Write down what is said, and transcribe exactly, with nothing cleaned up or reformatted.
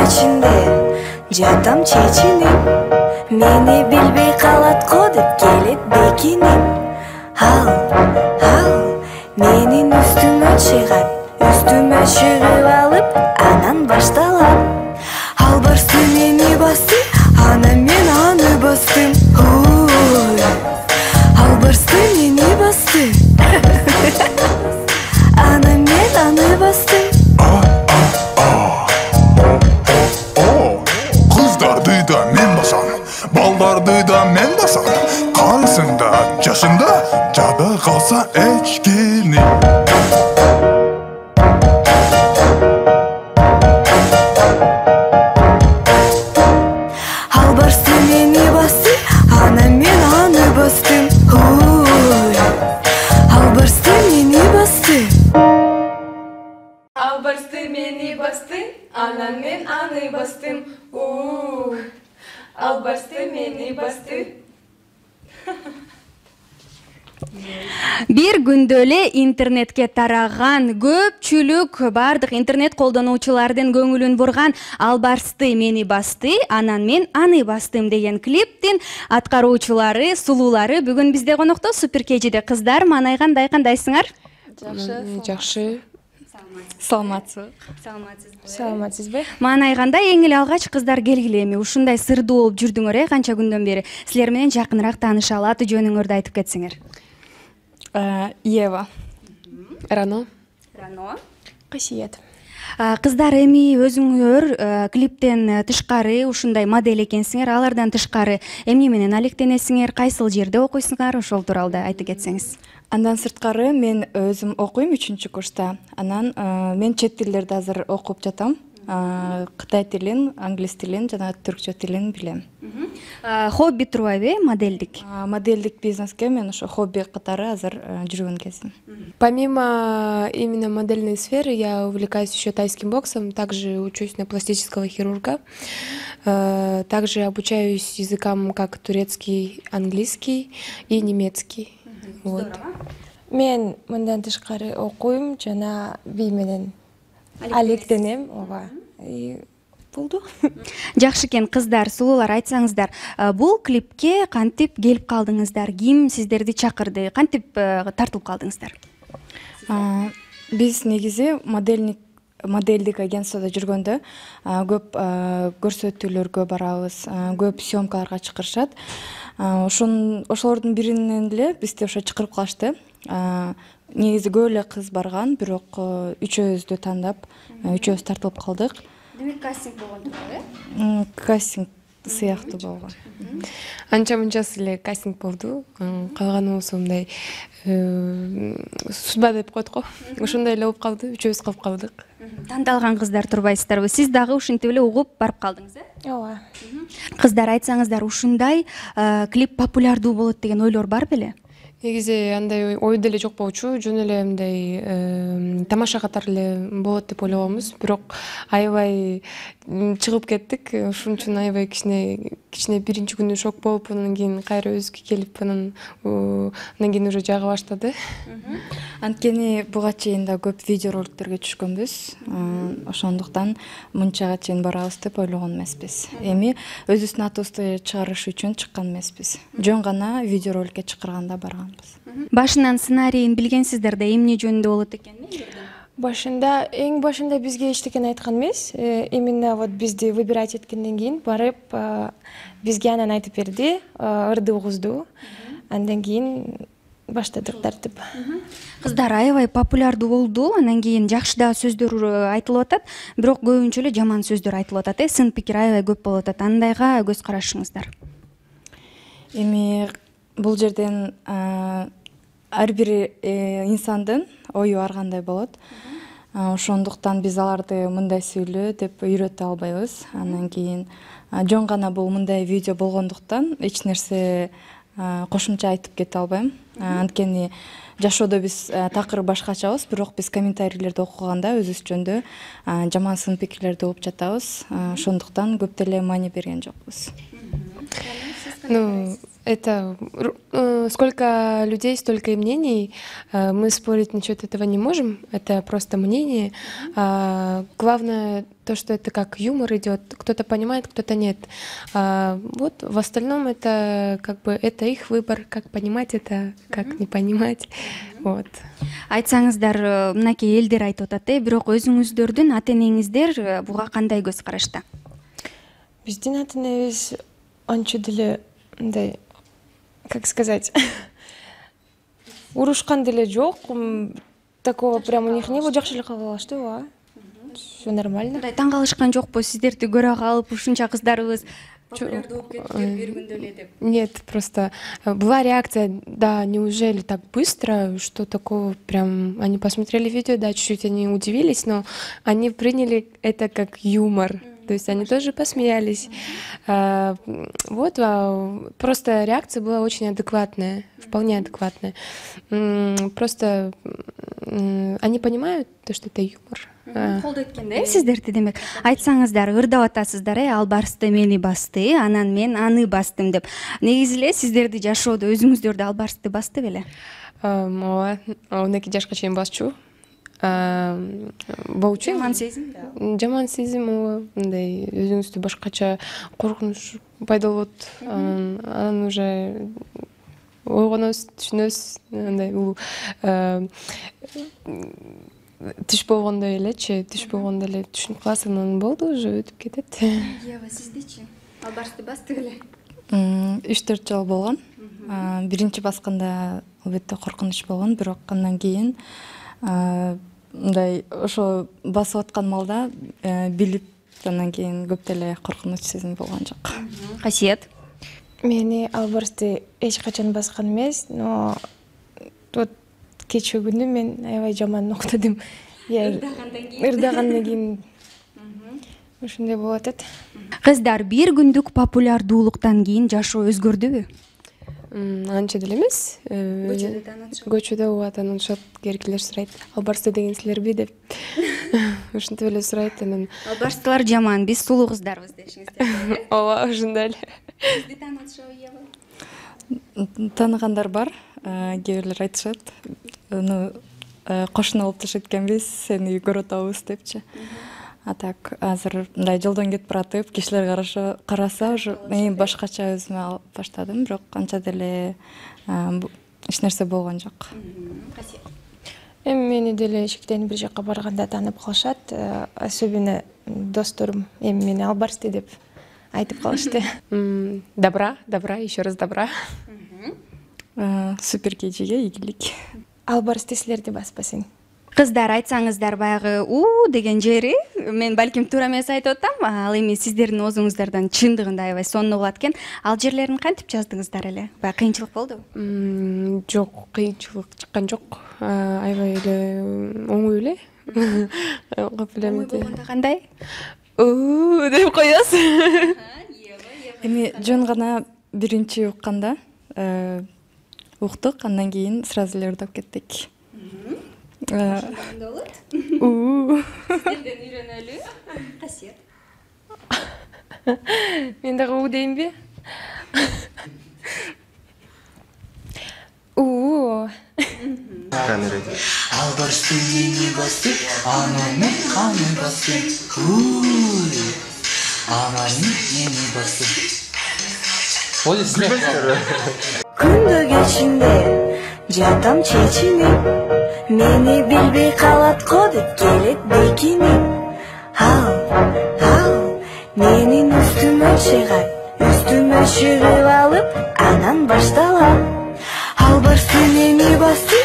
ичинде жатам чечинип, мени билбей калат го деп келет бекинип. Ал, ал менин үстүмө чыгат, үстүмө чыгып алып, анан башталат. Албарсты мени басты, анан мен аны бастым. Ой, албарсты мени басты, анан мен аны бастым. Кыздарды да мен басам, балдарды да мен басам. Карысында, жашында жада калса эчкени. Албарсты мени басты, анан мен аны бастым. Ой, албарсты мени басты. Албарсты мени басты, анан мен аны бастым. Уу, албарсты мени басты. Бир күндө эле интернетке тараган, көпчүлүк бардык интернет колдонуучулардын көңүлүн бурган Албарсты мени басты, анан мен аны бастым деген клиптин аткаруучулары, сулуулары бүгүн бизде конокто. Супер кежиде кыздар, маанай кандай, кандайсыңар? Жакшы. Жакшы. Саламатсызбы? Саламатсызбы? Маанай кандай? Эң эле алгач кыздар келгиле эми ушундай сырдуу болуп жүрдүңөр э, канча күндөн бери. Силер менен жакыныраак таанышалы, аты жөнүңөрдү айтып кетсеңер. Ева. Рано. Рано. Касиет. Кыздар, эми өзүңөр клиптен тышкары ушундай модель экенсиңер, алардан тышкары эмне менен алектенесиңер, кайсыл жерде окуйсуңар, ошол тууралуу да айтып кетсеңиз. Андан сырткары мен өзүм окуйм үчүнчү курста. Анан мен чет тилдерди азыр окуп жатам. Кытай тилин, англис тилин жана түркчө тилин билем. Хобби турбайбы, моделдик? Моделдик бизнеске мен ошо хобби катары азыр жүргөн кезим. Помимо именно модельной сферы, я увлекаюсь еще тайским боксом, также учусь на пластического хирурга, также обучаюсь языкам как турецкий, английский и немецкий. Вот. Мен мындан тышкары окуйм жана бий менен алектенем. Ооба. И болду. Жакшы экен, кыздар, сулуулар, айтсаңыздар, бул клипке кантип келип калдыңыздар? Ким сиздерди чакырды? Кантип тартылып калдыңыздар? Биз негизи модельник модельдик агентствода жүргөндө көп көрсөтүүлөргө барабыз, көп съемкаларга чакырышат. Ошон ошолордун биринен эле бизди ошо чакырып калышты. Негизи көп эле кыз барган, бирок үчөөбүздү тандап, үчөөбүз тартылып калдык. Демек кастинг болгон турбу, э? Кастинг сыяктуу болгон. Анча мынчасы эле кастинг болду. Калганыбыз мындай судьба деп коет го. Ошондой эле болуп калды, үчөөбүз калып калдык. Тандалган кыздар турбайсыздарбы? Сиз дагы ушинтип эле угуп барып калдыңыз, э? Ооба. Кыздар, айтсаңыздар, ушундай клип популярдуу болот деген ойлор бар беле? Негизи андай ой деле жок болчу, жөн эле мындай тамаша катары эле болот деп ойлогонбуз, бирок аябай чыгып кеттик. Ошон үчүн аябай кичине кичине биринчи күнү шок болуп, анан кийин кайра өзүбүзгө келип, анан андан кийин уже жага баштады. Анткени буга чейин да көп видео роликтерге түшкөнбүз. Ошондуктан мынчага чейин барабыз деп ойлогон эмеспиз. Эми өзүбүздүн атыбызды чыгарыш үчүн чыккан эмеспиз. Жөн гана видео роликке чакырганда барганбыз. Башынан сценарийин билгенсиздер да, эмне жөнүндө болот экенин? Башында, эң башында бизге эчтекен айткан эмес. Именно вот бизди выбирать эткенден кийин барып бизге анан айтып берди, ырды угузду. Андан кийин баштадык тартып. Кыздар, аябай популярдуу болду, анан кийин жакшы да сөздөр айтылып атат, бирок көбүнчө эле жаман сөздөр айтылып атат, э? Сын пикир аябай көп болуп атат. Андайга көз карашыңыздар? Эми бул жерден ар бир инсандын ою ар кандай болот. Ошондуктан биз аларды мындай сүйлө деп үйрөтө албайбыз. Андан кийин жөн гана бул мындай видео болгондуктан эч нерсе кошумча айтып кете албайм. Анткени жашоодо биз такыр башкачабыз, бирок биз комментарийлерди окуганда өзүбүз жөнүндө жаман сын пикирлерди угуп жатабыз. Ошондуктан көп деле маани берген жокпуз. Ну, это э, сколько людей, столько и мнений. Э, Мы спорить насчет этого не можем. Это просто мнение. А, Главное то, что это как юмор идет. Кто-то понимает, кто-то нет. А, Вот в остальном это как бы это их выбор, как понимать это, как не понимать. Вот. Айтсаңыздар, э, мынакей элдер айтып атат, э, бирок өзүңүздөрдүн ата энеңиздер э, буга кандай көз карашта? Биздин ата энебиз анча деле мындай, как сказать, урушкан деле жок. М, Такого прям у них не было. Жакшы эле кабыл алышты, ооба. Все нормально. Мындай таң калышкан жокпу сиздерди көрө калып ушунча кыздарыбыз популярдуу болуп кетиптир бир күндө эле деп? Нет, просто э, была реакция, да, неужели так быстро, что такого прям, они посмотрели видео, да, чуть-чуть они удивились, но они приняли это как юмор, то есть они тоже посмеялись. А, м, Вот, а, просто реакция была очень адекватная, вполне адекватная. М, Просто м, они понимают то, что это юмор. А, Колдойт экен да сиздерди демек. Айтсаңыздар, ырдап атасыздар, э, ал барсты мени басты, анан мен аны бастым деп. Негизи эле сиздерди жашоодо өзүңүздөрдү ал барсты басты беле? ам, ооба, он эки жашка чейин басчу. Боучу Жаман сезим да. жаман сезим, ооба, мындай өзүңүздү башкача коркунуч пайда болот. Анан анан уже ойгоносуз, түшүнөсүз, андай бул э, түш болгондой элечи, түш болгондой эле түшүнүп каласың, анан болду, уже өтүп кетет. Ева, сиздичи? Ал барсты басты беле? үч төрт жолу болгон. А, биринчи басканда албетте коркунуч болгон, бирок андан кийин а, мындай ошо басып аткан маалда э, билип, андан кийин көп деле коркунуч сезим болгон жок. Касиет? Мени албарсты эч качан баскан эмес, но вот кечээ күнү мен аябай жаман уктадым. Ырдагандан кийин ушундай болуп атат. Кыздар, бир күндүк популярдуулуктан кийин жашоо өзгөрдүбү? М, Анча деле эмес. Э, Көчөдө таанышат. Көчөдө ооба таанышат, керекелер сурайт. Ал барсты деген силерби деп. Ушинтип эле сурайт анан. Ал барстылар жаман, биз сулуу кыздарбыз дешиңиздер. Ооба, ошондой эле. Сизди таанышабы, Ева? Тааныгандар бар, э, кээ бирлер айтышат. Ну, э, кошуна болуп жашайт экенбиз, сени көрүп атабыз депчи. А так азыр мындай жолдон кетип баратып, кишилер караша караса уже мен башкача өзүмө алып баштадым, бирок анча деле э, бу- эч нерсе болгон жок. Эми мени деле эшиктен бир жакка барганда таанып калышат, э, особенно досторум эми мени албарсты деп айтып калышты. М, Добра, добра, еще раз добра. Э, Супер кежиге ийгилик. Албарсты силерди баспасын. Кыздар, айтсаңыздар баягы у деген жери, мен балким туура эмес айтып атам, ал эми сиздердин оозуңуздардан чындыгында аябай сонун угулат экен. Ал жерлерин кантип жаздыңыздар эле? Баягы кыйынчылык болдубу? М, Жок, кыйынчылык чыккан жок. А, Аябай эле оңой эле. Кап эле Ой, мынтип. болгондо кандай? «Уу» деп коесуң. Эми жөн гана биринчи укканда э, уктук, андан кийин сразу эле ырдап кеттик. Э, «Уу». Сиздерден үйрөнөлү. Касиет. Мен дагы «уу» дейинби? «Уу». Албарсты мени басты, анан мен аны бастым. Уй, анан мени басты. Ой, силер. Күндө кечинде жатам чечинип, мени билбей калат го деп келет бекинип. Ал, ал, менин үстүмө чыгат, үстүмө чыгып алып, анан башталат. Ал барсты мени басты,